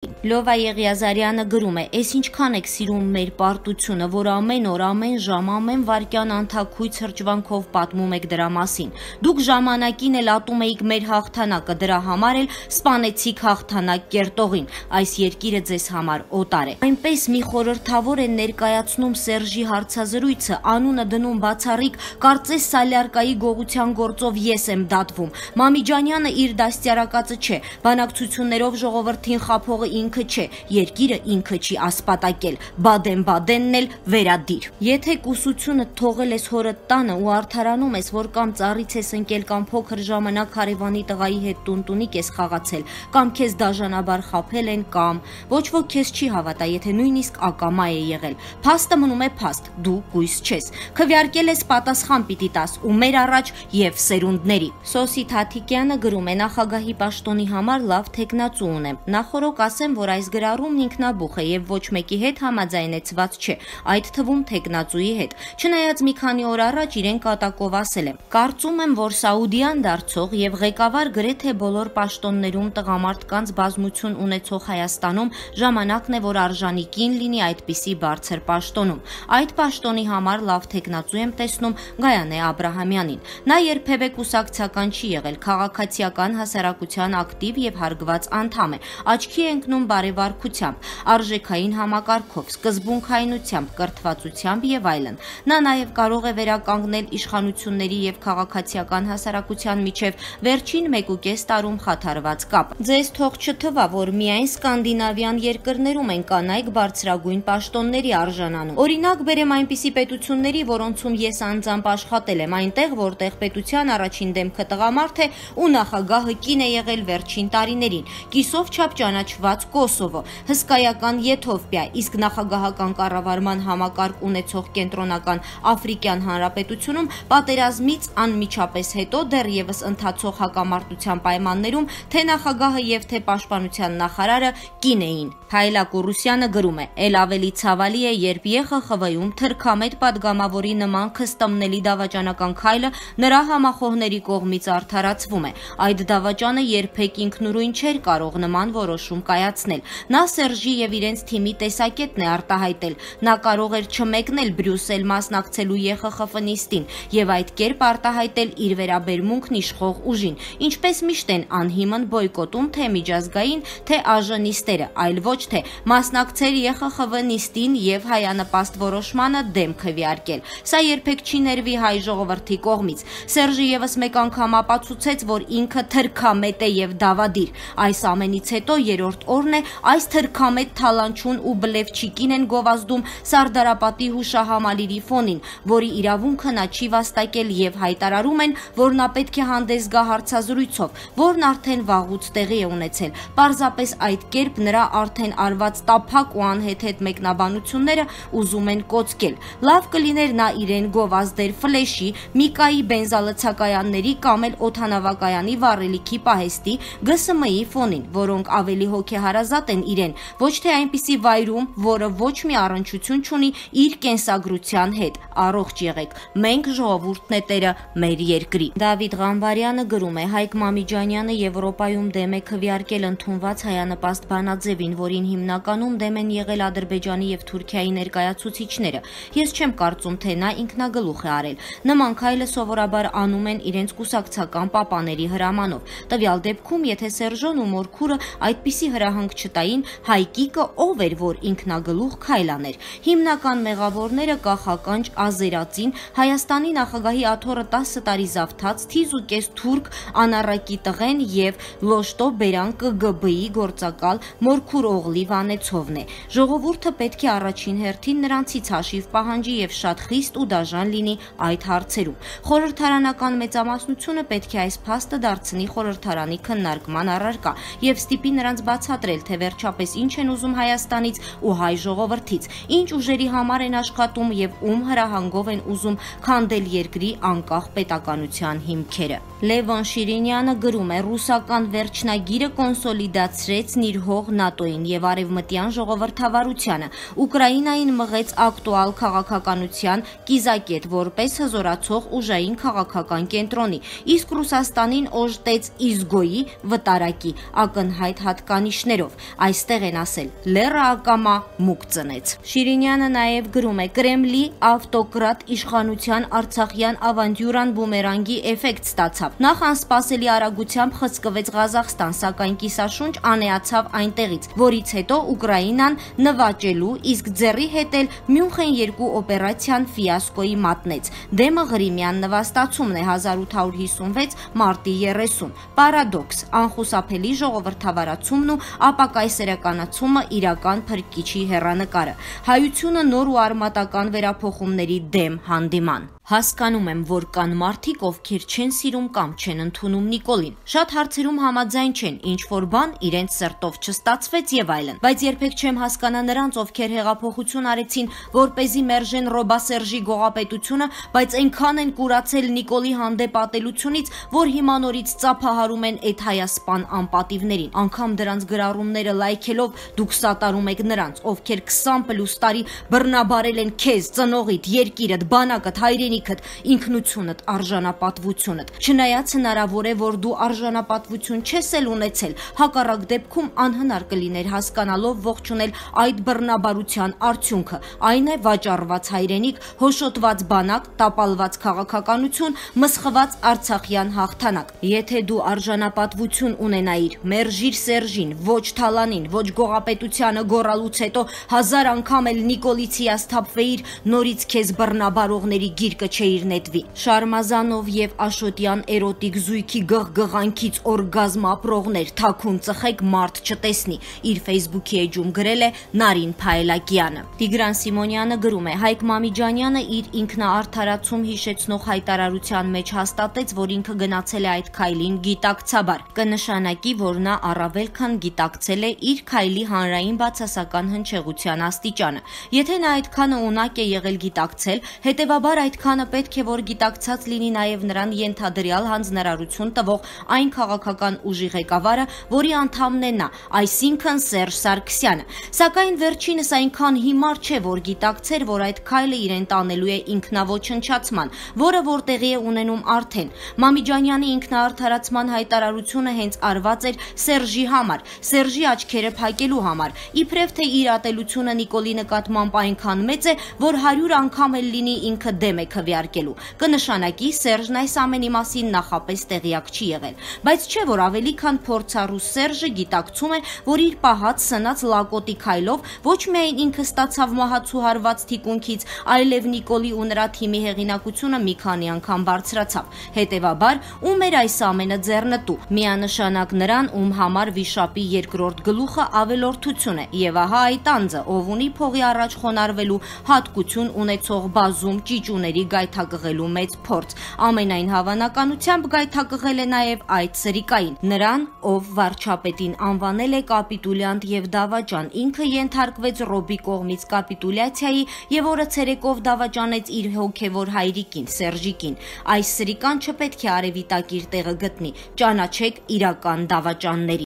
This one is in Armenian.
Լովա Եղիազարյանը գրում է. «Էս ինչքան եք սիրում մեր պարտությունը, որ ամեն օր, ամեն ժամ, ամեն վայրկյան անթաքույց հրճվանքով պատմում եք դրա մասին։ Դուք ժամանակին էլ ատում էիք մեր հաղթանակը, դրա համար էլ սպանեցիք հաղթանակ կերտողին։ Այս երկիրը ձեզ համար օտար է»։ Այնպես մի խորհրդավոր է ներկայացնում Սերժի հարցազրույցը, անունը դնում բացառիկ, կարծես Սալյարկայի գողության գործով ես եմ դատվում։ Մամիջանյանը իր դաստիարակածը չէ, բանակցություններով ժողովրդին խաբողը ինքը չէ, երկիրը ինքը չի ասպատակել, Բադեն-Բադենն էլ վերադիր։ Եթե կուսությունը թողել ես հորդ տանը ու արդարանում ես, որ կամ ծառից ես ընկել, կամ փոքր ժամանակ հարևանի տղայի հետ տունտունիկ ես խաղացել, կամ քեզ դաժանաբար խաբել են, կամ ոչ ոք քեզ չի հավատա, եթե նույնիսկ ակամա է եղել։ Փաստը մնում է փաստ, դու կույս չես։ Քվեարկել ես, պատասխան պիտի տաս ու մեր առաջ եւ սերունդների։ Սոսի Թաթիկյանը գրում է. նախագահի պաշտոնի համար լավ թեկնածու ունեմ։ Նախորոք ասեմ, որ այս գրառումն ինքնաբուխ է եւ ոչ մեկի հետ համաձայնեցված չէ, այդ թվում թեկնածուի հետ։ Չնայած մի քանի օր առաջ իրեն կատակով ասել եմ. կարծում եմ, որ Սաուդյան դարձող եւ ղեկավար գրեթե բոլոր պաշտոններում տղամարդկանց բազմություն ունեցող Հայաստանում ժամանակն է, որ արժանիկին լինի այդպիսի բարձր պաշտոնում։ Այդ պաշտոնի համար լավ թեկնածու եմ տեսնում Գայանե Աբրահամյանին։ Նա երբևէ կուսակցական չի եղել, քաղաքացիական հասարակության ակտիվ եւ հարգված անդամ է, աչքի է ընկնում բարեվարքությամբ, արժեքային համակարգով, սկզբունքայնությամբ, կրթվածությամբ եւ այլն։ Նա նաեւ կարող է վերականգնել իշխանությունների եւ քաղաքացիական հասարակության միջև վերջին 1.5 տարում խաթարված կապը։ Ձեզ թող չթվա, որ միայն սկանդինավյան երկրներում են կանայք բարձրագույն պաշտոնների արժանանում։ Օրինակ բերեմ այնպիսի պետությունների, որոնցում ես անձամբ աշխատել եմ, այնտեղ, որտեղ պետության առաջին դեմքը տղամարդ է ու նախագահը կին է եղել վերջին տարիներին, կիսով չափ ճանաչված Կոսովո, հսկայական Եթովպիա, իսկ նախագահական կառավարման համակարգ ունեցող Կենտրոնական Աֆրիկյան Հանրապետությունում պատերազմից անմիջապես հետո դեռևս ընթացող հակամարտության պայմաններում թե նախագահը եւ թե պաշտպանության նախարարը կին էին։ Հայլակ Ուրուսյանը գրում է. «Էլ ավելի ցավալի է, երբ ԵԽԽՎ-ում թրքամետ падգամավորի նման քստմնելի դավաճանական քայլը նրա համախոհների կողմից արդարացվում է։ Այդ դավաճանը երբեք ինքնուրույն չէր կարող նման որոշում կայացնել։ Նա Սերժի եւ իրենց թիմի տեսակետն է արտահայտել։ Նա կարող էր չմեկնել Բրյուսել մասնակցելու ԵԽԽՎ նիստին եւ այդ կերպ արտահայտել իր վերաբերմունքն իշխող ուժին, ինչպես միշտ են անհիմն բոյկոտում թե միջազգային, թե ԱԺ նիստերը, այլ ոչ թե մասնակցել ԵԽԽՎ նիստին եւ հայանպաստ որոշմանը դեմ քվեարկել։ Սա երբեք չի ներվի հայ ժողովրդի կողմից։ Սերժը եւս մեկ անգամ ապացուցեց, որ ինքը թրքամետ է եւ դավադիր։ Այս ամենից հետո երրորդ օրն է այս թրքամետ թալանչուն ու բլեվչիկին են գովազդում Սարդարապատի հուշահամալիրի ֆոնին, որի իրավունքը նա չի վաստակել եւ հայտարարում են, որ նա պետք է հանդես գա հարցազրույցով, որն արդեն վաղուց տեղի է ունեցել։ Պարզապես այդ կերպ նրա արդեն արված տափակ ու անհեթեթ մեկնաբանությունները ուզում են կոծկել։ Լավ կլիներ նա իրեն գովազդեր ֆլեշի, Միկայի բենզալցակայանների կամ էլ օդանավակայանի վառելիքի պահեստի, ԳՍՄ-ի ֆոնին, որոնք ավելի հոգեհարազատ են իրեն, ոչ թե այնպիսի վայրում, որը ոչ մի առնչություն չունի իր կենսագրության հետ։ Առողջ եղեք, մենք ժողովուրդն է տերը մեր երկրի։ Դավիթ Ղամբարյանը գրում է. Հայկ Մամիջանյանը Եվրոպայում դեմ է քվեարկել ընդունված հայանպաստ բանաձևին, որին հիմնականում դեմ են եղել Ադրբեջանի եւ Թուրքիայի ներկայացուցիչները։ Ես չեմ կարծում, թե նա ինքնագլուխ է արել։ Նման քայլը սովորաբար անում են իրենց կուսակցական պապաների հրամանով։ Տվյալ դեպքում, եթե Սերժոն ու Մորքուրը այդպիսի հրահանգ չտային, Հայկիկը ով էր, որ ինքնագլուխ քայլ աներ։ Հիմնական մեղավորները կախականջ ազերածին, Հայաստանի նախագահի աթոռը 10 տարի զավթած, թիզուկես թուրք անառակի տղեն եւ Լոշտո Բերան ԿԳԲ-ի գործակալ Մորքուր Օղլի Վանեցովն է։ Ժողովուրդը պետք է առաջին հերթին նրանցից հաշիվ պահանջի եւ շատ խիստ ու դաժան լինի այդ հարցերում։ Խորհրդարանական մեծամասնությունը պետք է այս փաստը դարձնի խորհրդարանի քննարկման առարկա եւ ստիպի նրանց բացատրել, թե վերջապես ինչ են ուզում Հայաստանից ու հայ ժողովրդից, ինչ ուժերի համար են աշխատում եւ ում հրահանգով են ուզում քանդել երկրի անկախ պետականության հիմքերը։ Լևոն Շիրինյանը գրում է. ռուսական վերջնագիրը կոնսոլիդացրեց իր հող ՆԱՏՕ-ին եւ արևմտյան ժողովրդավարությանը, Ուկրաինային մղեց ակտուալ քաղաքականության կիզակետ որպես հզորացող ուժային քաղաքական կենտրոնի, իսկ Ռուսաստանին օժտեց իզգոյի վտարակի ակնհայտ հատկանիշներ աղջիկներով։ Այստեղ են ասել՝ լեռը ակամա մուկ ծնեց։ Շիրինյանը նաև գրում է. Կրեմլի ավտոկրատ իշխանության արցախյան ավանտյուրան բումերանգի էֆեկտ ստացավ։ Նախ անսպասելի արագությամբ խցկվեց Ղազախստան, սակայն կիսաշունչ անեացավ այնտեղից, որից հետո Ուկրաինան նվաճելու, իսկ ձեռի հետ էլ Մյունխեն 2 օպերացիան ֆիասկոյի մատնեց։ Դեմը Ղրիմյան նվաստացումն է 1856 մարտի 30։ Պարադոքս, անխուսափելի ժողովրդավարացումն ու ապակայսերականացումը իրական փրկիչի հեռանկարը։ Հայությունը նոր ու արմատական վերափոխումների դեմ հանդիման։ Հասկանում եմ, որ կան մարդիկ, ովքեր չեն սիրում կամ չեն ընդունում Նիկոլին։ Շատ հարցերում համաձայն չեն, ինչ որ բան իրենց սրտով չստացվեց եւ այլն։ Բայց երբեք չեմ հասկանա նրանց, ովքեր հեղափոխություն արեցին, որպեսզի մերժեն Ռոբասերժի գողապետությունը, բայց այնքան են կուրացել Նիկոլի հանդեպ ատելությունից, որ հիմա նորից ծափահարում են այդ հայասպան անպատիվներին։ Անգամ դրանց գրառումները լայքելով դուք սատարում եք նրանց, ովքեր 20+ տարի բռնաբարել են քեզ, ծնողիդ, երկիրդ, բանակդ, հայրենիքդ, ինքնությունդ, արժանապատվությունդ։ Չնայած հնարավոր է, որ դու արժանապատվություն չես էլ ունեցել, հակառակ դեպքում անհնար կլիներ հասկանալով ողջունել այդ բռնաբարության արդյունքը։ Այն է վաճառված հայրենիք, հոշոտված բանակ, տապալված քաղաքականություն, մսխված արցախյան հաղթանակ։ Եթե դու արժանապատվություն ունենայիր, մերժիր Սերժին, ոչ Թալանին, ոչ գողապետությանը գոռալուց հետո 1000 անգամ էլ Նիկոլից հիասթափվեիր, նորից քեզ բռնաբարողների գիրկը չէիր նետվի։ Շարմազանով եւ Աշոտյան էրոտիկ զույգի գղգղանքից օրգազմ ապրողներ, թաքուն ծխեք մարդ չտեսնի, իր Facebook-ի էջում գրել է Նարին Փայլակյանը։ Տիգրան Սիմոնյանը գրում է. Հայկ Մամիջանյանը իր ինքնաարդարացում հիշեցնող հայտարարության մեջ հաստատեց, որ ինքը գնացել է այդ քայլին գիտակցաբար։ Կնշանակի, որ նա առավել քան գիտակցել է իր քայլի հանրային բացասական հնչեղության աստիճանը։ Եթե նա այդքանը ունակ է եղել գիտակցել, հետևաբար այդքանը պետք է որ գիտակցած լինի նաև նրան ենթադրյալ հանձնարարություն տվող այն քաղաքական ուժի ղեկավարը, որի անդամն է նա, այսինքն Սերժ Սարգսյանը։ Սակայն վերջինս այնքան հիմար չէ, որ գիտակցեր, որ այդ քայլը իրեն տանելու է ինքնաոչնչացման, որը որ տեղի է ունենում արդեն։ Մամիջանյանի ինքնաարդարացման հայտարարությունը հենց արված էր Սերժի համար, Սերժի աչքերը փակելու համար, իբրև թե իր ատելությունը Նիկոլի նկատմամբ այնքան մեծ է, որ 100 անգամ էլ լինի ինքը դեմ է քվեարկելու։ Կնշանակի Սերժն այս ամենի մասին նախապես տեղյակ չի եղել։ Բայց չէ որ ավելի քան փորձառու Սերժը գիտակցում է, որ իր պահած սնած լակոտի քայլով ոչ միայն ինքը ստացավ մահացու հարված թիկունքից, այլև Նիկոլի ու նրա թիմի հեղինակությունը մի քանի անգամ բարձրացավ։ Հետևաբար, ում էր այս ամենը ձեռնտու։ Միանշանակ նրան, ում համար վիշապի երկրորդ գլուխը ավելորդություն է, եւ ահա այդ անձը, ով ունի փողի առաջ խոնարհվելու հատկություն ունեցող բազում ճիճուների գայթակղելու մեծ փորձ, ամենայն հավանականությամբ գայթակղել է նաև այդ սրիկային, նրան, ով վարչապետին անվանել է կապիտուլյանտ եւ դավաճան, ինքը ենթարկվեց Ռոբի կողմից կապիտուլյացիայի եւ օրը ցերեկով դավաճանեց իր հոգեվոր հայրիկին, Սերժիկին։ Այս սրիկան չպետք է արևի տակ իր տեղը գտնի, ճանաչեք իրական դավաճաններին։